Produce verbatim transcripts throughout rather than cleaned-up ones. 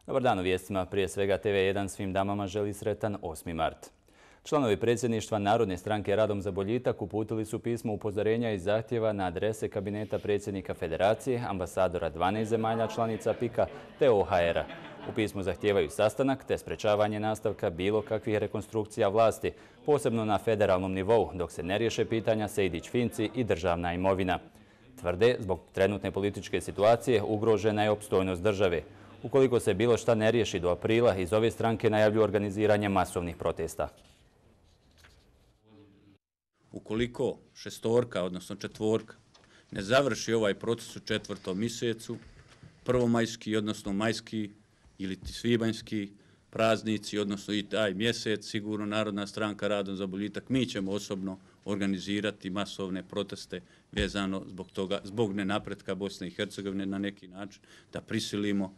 Dobar dan u vijestima. Prije svega T V jedan svim damama želi sretan osmi mart. Članovi predsjedništva Narodne stranke Radom za boljitak uputili su pismo upozorenja i zahtjeva na adrese kabineta predsjednika Federacije, ambasadora dvanaest zemalja članica pika te O H R-a. U pismu zahtijevaju sastanak te sprečavanje nastavka bilo kakvih rekonstrukcija vlasti, posebno na federalnom nivou, dok se ne riješe pitanja Sejdić-Finci i državna imovina. Tvrde, zbog trenutne političke situacije ugrožena je opstojnost države. Ukoliko se bilo šta ne riješi do aprila, iz ove stranke najavljuju organiziranje masovnih protesta. Ukoliko šestorka, odnosno četvorka, ne završi ovaj proces u četvrtom mjesecu, prvomajski, odnosno majski ili svibanjski praznici, odnosno i taj mjesec, sigurno Narodna stranka Radom za boljitak, mi ćemo osobno organizirati masovne proteste vezano zbog toga, zbog nenapretka Bosne i Hercegovine na neki način, da prisilimo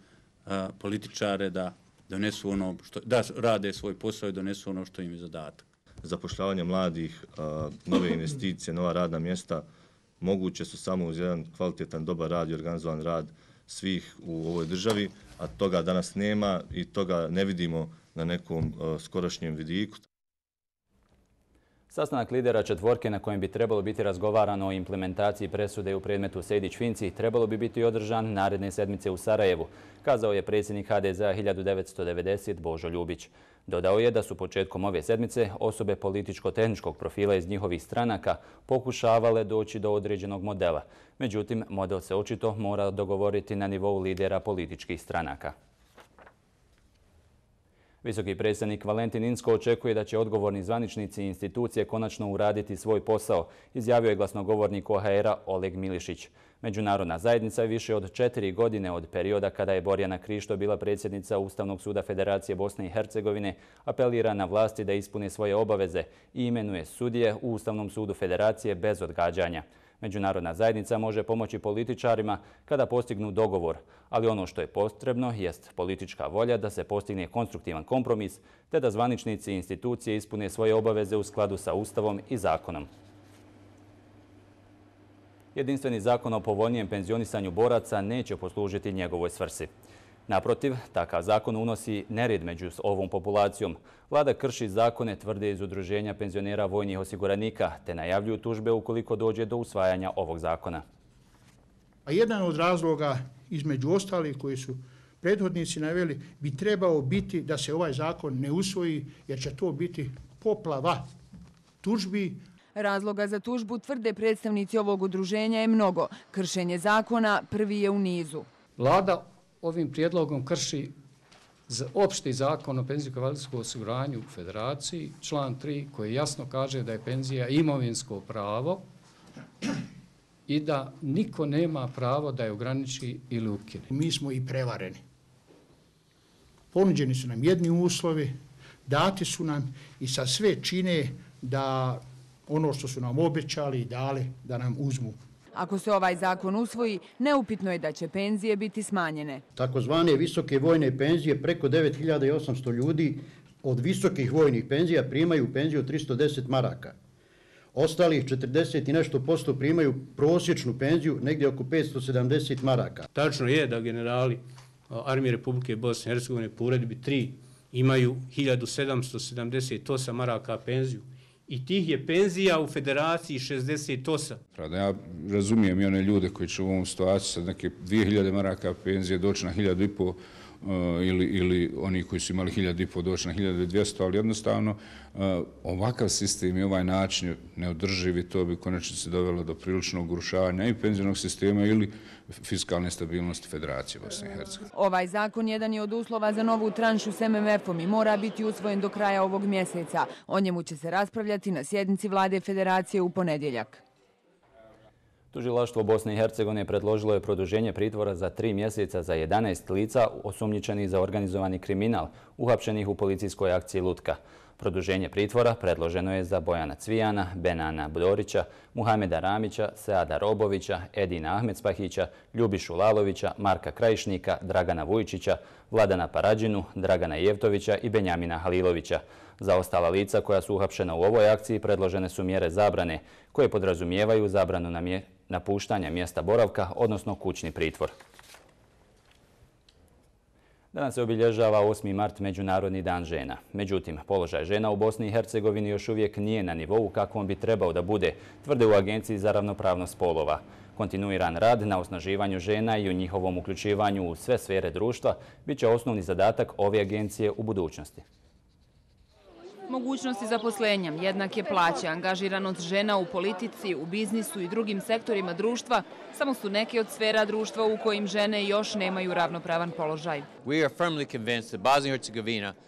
a, političare da donesu ono što, da rade svoj posao i donesu ono što im je zadatak. Zapošljavanje mladih, nove investicije, nova radna mjesta moguće su samo uz jedan kvalitetan, dobar rad i organizovan rad svih u ovoj državi, a toga danas nema i toga ne vidimo na nekom skorašnjem vidiku. Sastanak lidera četvorke na kojem bi trebalo biti razgovarano o implementaciji presude u predmetu Sejdić-Finci trebalo bi biti održan naredne sedmice u Sarajevu, kazao je predsjednik H D Z A hiljadu devetsto devedesete Božo Ljubić. Dodao je da su početkom ove sedmice osobe političko-tehničkog profila iz njihovih stranaka pokušavale doći do određenog modela. Međutim, model se očito mora dogovoriti na nivou lidera političkih stranaka. Visoki predstavnik Valentin Inzko očekuje da će odgovorni zvaničnici i institucije konačno uraditi svoj posao, izjavio je glasnogovornik O H R-a Oleg Milišić. Međunarodna zajednica je više od četiri godine od perioda kada je Borjana Krišto bila predsjednica Ustavnog suda Federacije Bosne i Hercegovine, apelira na vlasti da ispune svoje obaveze i imenuje sudije u Ustavnom sudu Federacije bez odgađanja. Međunarodna zajednica može pomoći političarima kada postignu dogovor, ali ono što je potrebno jest politička volja da se postigne konstruktivan kompromis te da zvaničnici i institucije ispune svoje obaveze u skladu sa Ustavom i zakonom. Jedinstveni zakon o povoljnijem penzionisanju boraca neće poslužiti njegovoj svrsi. Naprotiv, takav zakon unosi nered među ovom populacijom. Vlada krši zakone, tvrde iz Udruženja penzionera vojnih osiguranika, te najavljuju tužbe ukoliko dođe do usvajanja ovog zakona. A jedan od razloga, između ostalih koji su prethodnici naveli, bi trebao biti da se ovaj zakon ne usvoji, jer će to biti poplava tužbi. Razloga za tužbu, tvrde predstavnici ovog udruženja, je mnogo. Kršenje zakona prvi je u nizu. Vlada ovim prijedlogom krši opšti zakon o penzijsko-invalidskom osiguranju u Federaciji, član tri, koji jasno kaže da je penzija imovinsko pravo i da niko nema pravo da je ograniči ili ukine. Mi smo i prevareni. Ponuđeni su nam jedni uslovi, dati su nam i sa sve čine da ono što su nam obećali i dali da nam uzmu. Ako se ovaj zakon usvoji, neupitno je da će penzije biti smanjene. Takozvane visoke vojne penzije, preko devet hiljada osamsto ljudi od visokih vojnih penzija primaju penziju od tristo deset maraka. Ostalih četrdeset i nešto posto primaju prosječnu penziju negdje oko petsto sedamdeset maraka. Tačno je da generali Armije Republike Bosne i Hercegovine po uredbi tri imaju hiljadu sedamsto sedamdeset osam maraka penziju. I tih je penzija u Federaciji šezdeset osam. Ja razumijem i one ljude koji će u ovom situaciji sa neke dvije hiljade maraka penzije doći na hiljadu i po uh, ili, ili oni koji su imali hiljadu i po doći na hiljadu i dvjesto, ali jednostavno uh, ovakav sistem i ovaj način neodrživi, to bi konačno se dovelo do priličnog urušavanja i penzionog sistema ili fiskalne stabilnosti Federacije Bosne i Hercegovine. Ovaj zakon jedan je od uslova za novu tranšu s M M F-om i mora biti usvojen do kraja ovog mjeseca. O njemu će se raspravljati na sjednici Vlade Federacije u ponedjeljak. Tužilaštvo Bosne i Hercegovine predložilo je produženje pritvora za tri mjeseca za jedanaest lica osumnjičenih za organizovani kriminal, uhapšenih u policijskoj akciji Lutka. Produženje pritvora predloženo je za Bojana Cvijana, Benana Budorića, Muhameda Ramića, Seada Robovića, Edina Ahmedspahića, Ljubišu Lalovića, Marka Krajišnika, Dragana Vujčića, Vladana Parađinu, Dragana Jevtovića i Benjamina Halilovića. Za ostala lica koja su uhapšena u ovoj akciji predložene su mjere zabrane, koje podrazumijevaju zabranu napuštanja mjesta boravka, odnosno kućni pritvor. Danas se obilježava osmi mart, Međunarodni dan žena. Međutim, položaj žena u Bosni i Hercegovini još uvijek nije na nivou kakvom bi trebao da bude, tvrde u Agenciji za ravnopravnost spolova. Kontinuiran rad na osnaživanju žena i u njihovom uključivanju u sve sfere društva bit će osnovni zadatak ove agencije u budućnosti. Mogućnosti zaposlenja, jednake plaće, angažiranost žena u politici, u biznisu i drugim sektorima društva samo su neke od sfera društva u kojim žene još nemaju ravnopravan položaj.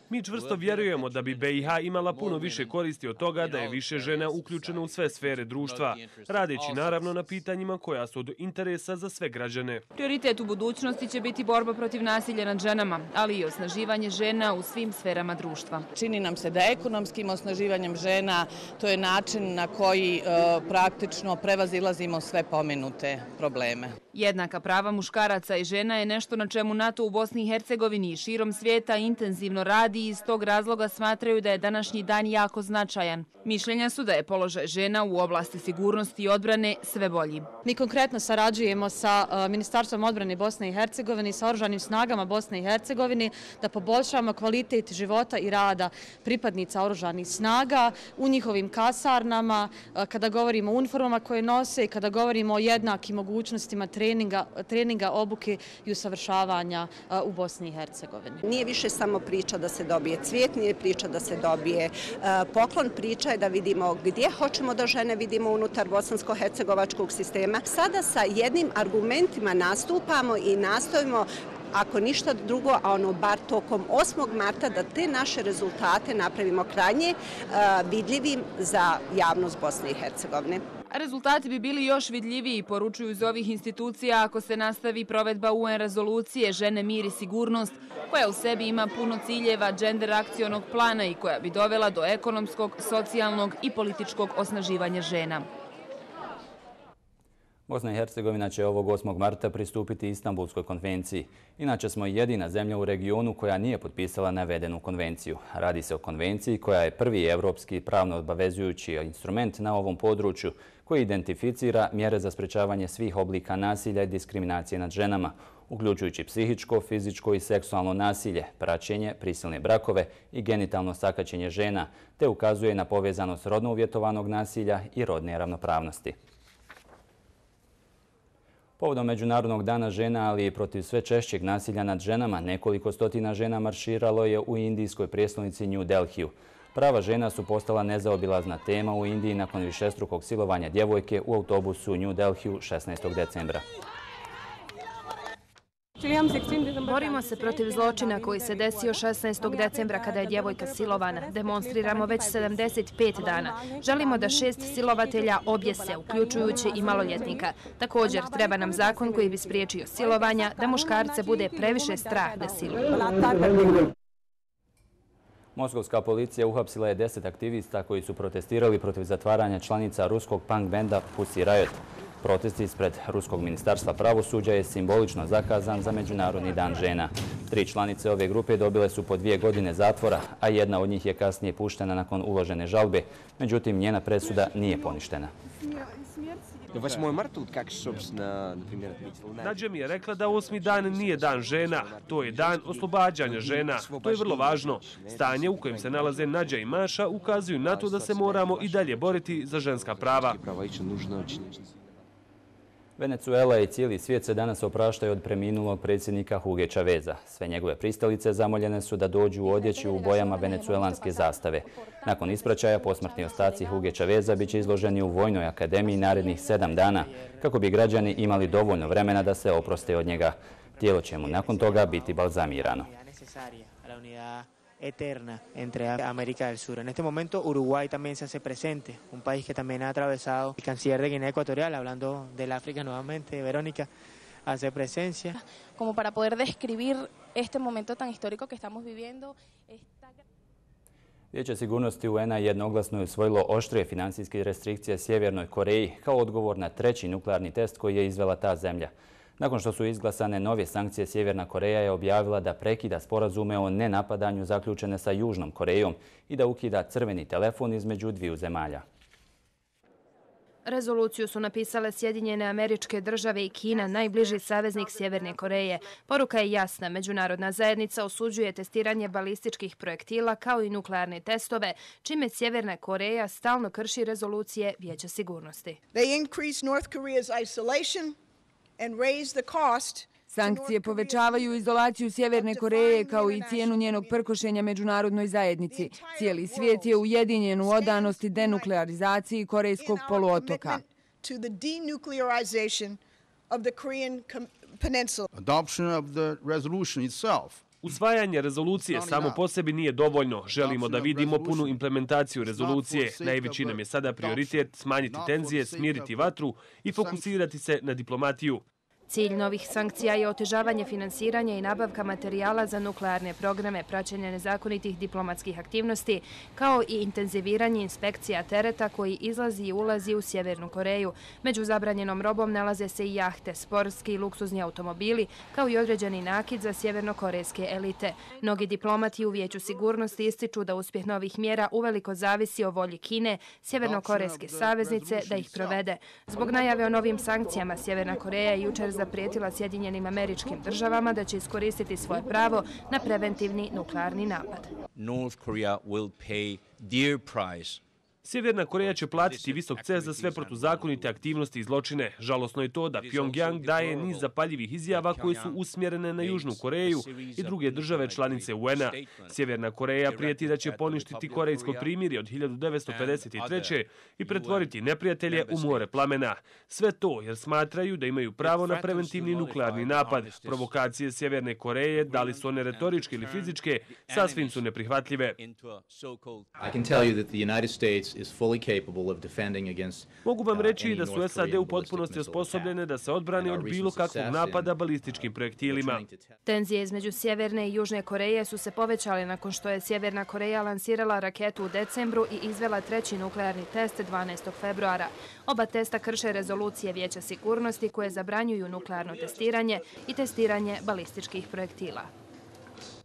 Mi čvrsto vjerujemo da bi B i H imala puno više koristi od toga da je više žena uključeno u sve sfere društva, radeći naravno na pitanjima koja su od interesa za sve građane. Prioritet u budućnosti će biti borba protiv nasilja nad ženama, ali i osnaživanje žena u svim sferama društva. Čini nam se da ekonomskim osnaživanjem žena to je način na koji e, praktično prevazilazimo sve pomenute probleme. Jednaka prava muškaraca i žena je nešto na čemu NATO u Bosni i Hercegovini i širom svijeta intenzivno radi i iz tog razloga smatraju da je današnji dan jako značajan. Mišljenja su da je položaj žena u oblasti sigurnosti i odbrane sve bolji. Mi konkretno sarađujemo sa uh, Ministarstvom odbrane Bosne i Hercegovine i sa Oružanim snagama Bosne i Hercegovine da poboljšavamo kvalitet života i rada pripadnica Oružanih snaga u njihovim kasarnama, uh, kada govorimo o uniformama koje nose i kada govorimo o jednakim mogućnostima treninga, treninga obuke i usavršavanja uh, u Bosni i Hercegovini. Nije više samo priča da se dobije cvijet, nije priča da se dobije uh, poklon, priča je da vidimo gdje hoćemo da žene vidimo unutar bosansko-hercegovačkog sistema. Sada sa jednim argumentima nastupamo i nastojimo, ako ništa drugo, a ono bar tokom osmog marta, da te naše rezultate napravimo krajnje uh, vidljivim za javnost Bosne i Hercegovine. Rezultati bi bili još vidljiviji, poručuju iz ovih institucija, ako se nastavi provedba U N rezolucije Žene, mir i sigurnost, koja u sebi ima puno ciljeva gender akcionog plana i koja bi dovela do ekonomskog, socijalnog i političkog osnaživanja žena. Bosna i Hercegovina će ovog osmog marta pristupiti Istanbulskoj konvenciji. Inače smo jedina zemlja u regionu koja nije potpisala navedenu konvenciju. Radi se o konvenciji koja je prvi evropski pravno obavezujući instrument na ovom području koji identificira mjere za sprečavanje svih oblika nasilja i diskriminacije nad ženama, uključujući psihičko, fizičko i seksualno nasilje, praćenje, prisilne brakove i genitalno sakaćenje žena, te ukazuje na povezanost rodno uvjetovanog nasilja i rodne ravnopravnosti. Povodom Međunarodnog dana žena, ali i protiv sve češćeg nasilja nad ženama, nekoliko stotina žena marširalo je u indijskoj prijestolnici New Delhiju. Prava žena su postala nezaobilazna tema u Indiji nakon višestrukog silovanja djevojke u autobusu u New Delhiju šesnaestog decembra. Borimo se protiv zločina koji se desio šesnaestog decembra kada je djevojka silovana. Demonstriramo već sedamdeset pet dana. Želimo da šest silovatelja objese, uključujući i maloljetnika. Također, treba nam zakon koji bi spriječio silovanja, da muškarce bude previše strah da siluju. Moskovska policija uhapsila je deset aktivista koji su protestirali protiv zatvaranja članica ruskog punk benda Pussy Riot. Protest ispred Ruskog ministarstva pravosuđa je simbolično zakazan za Međunarodni dan žena. Tri članice ove grupe dobile su po dvije godine zatvora, a jedna od njih je kasnije puštena nakon uložene žalbe. Međutim, njena presuda nije poništena. Nađa mi je rekla da osmi dan nije dan žena, to je dan oslobađanja žena. To je vrlo važno. Stanje u kojem se nalaze Nađa i Maša ukazuju na to da se moramo i dalje boriti za ženska prava. Venezuela i cijeli svijet se danas opraštaju od preminulog predsjednika Huge Chaveza. Sve njegove pristalice zamoljene su da dođu u odjeći u bojama venecuelanske zastave. Nakon ispraćaja, posmrtni ostaci Huge Chaveza bit će izloženi u Vojnoj akademiji narednih sedam dana, kako bi građani imali dovoljno vremena da se oproste od njega. Tijelo će mu nakon toga biti balzamirano. Eterna entre América del Sur. En este momento Uruguay también se hace presente, un país que también ha atravesado. El canciller de Guinea Ecuatorial, hablando del África nuevamente, Verónica, hace presencia. Como para poder describir este momento tan histórico que estamos viviendo. Esta... Vijeće sigurnosti U N-a jednoglasno je usvojilo oštrije financijske restrikcije Sjevernoj Koreji kao odgovor na treći nuklearni test koji je izvela ta zemlja. Nakon što su izglasane nove sankcije, Sjeverna Koreja je objavila da prekida sporazume o nenapadanju zaključene sa Južnom Korejom i da ukida crveni telefon između dviju zemalja. Rezoluciju su napisale Sjedinjene Američke Države i Kina, najbliži saveznik Sjeverne Koreje. Poruka je jasna. Međunarodna zajednica osuđuje testiranje balističkih projektila kao i nuklearne testove, čime Sjeverna Koreja stalno krši rezolucije Vijeća sigurnosti. They increase North Korea's isolation and raise the cost. Sankcije povećavaju izolaciju Sjeverne Koreje kao i cijenu njenog prkošenja međunarodnoj zajednici. Cijeli svijet je ujedinjen u odanosti denuklearizaciji Korejskog poluotoka. Usvajanje rezolucije samo po sebi nije dovoljno. Želimo da vidimo punu implementaciju rezolucije. Najveći nam je sada prioritet smanjiti tenzije, smiriti vatru i fokusirati se na diplomatiju. Cilj novih sankcija je otežavanje finansiranja i nabavka materijala za nuklearne programe, praćenje nezakonitih diplomatskih aktivnosti, kao i intenziviranje inspekcija tereta koji izlazi i ulazi u Sjevernu Koreju. Među zabranjenom robom nalaze se i jahte, sportski i luksuzni automobili, kao i određeni nakit za sjevernokorejske elite. Mnogi diplomati u Vijeću sigurnosti ističu da uspjeh novih mjera uveliko zavisi o volji Kine, sjevernokorejske saveznice, da ih provede. Zbog najave o novim sankcijama, Sjeverna Koreja je jučer zaprijetila Sjedinjenim Američkim Državama da će iskoristiti svoje pravo na preventivni nuklearni napad. North Korea will pay dear price. Sjeverna Koreja će platiti visok ceh za sve protuzakonite aktivnosti i zločine. Žalosno je to da Pyongyang daje niz zapaljivih izjava koje su usmjerene na Južnu Koreju i druge države članice U N-a. Sjeverna Koreja prijeti da će poništiti korejsko primirje od hiljadu devetsto pedeset treće. i pretvoriti neprijatelje u more plamena. Sve to jer smatraju da imaju pravo na preventivni nuklearni napad. Provokacije Sjeverne Koreje, da li su one retoričke ili fizičke, sasvim su neprihvatljive. I can tell you that the United States is fully capable of defending against. Mogu vam reći da su S A D u potpunosti osposobljene da se odbrane od bilo kakvog napada balističkim projektilima. Tenzije između Sjeverne i Južne Koreje su se povećale nakon što je Sjeverna Koreja lansirala raketu u decembru i izvela treći nuklearni test dvanaestog februara. Oba testa krše rezolucije Vijeća sigurnosti koje zabranjuju nuklearno testiranje i testiranje balističkih projektila.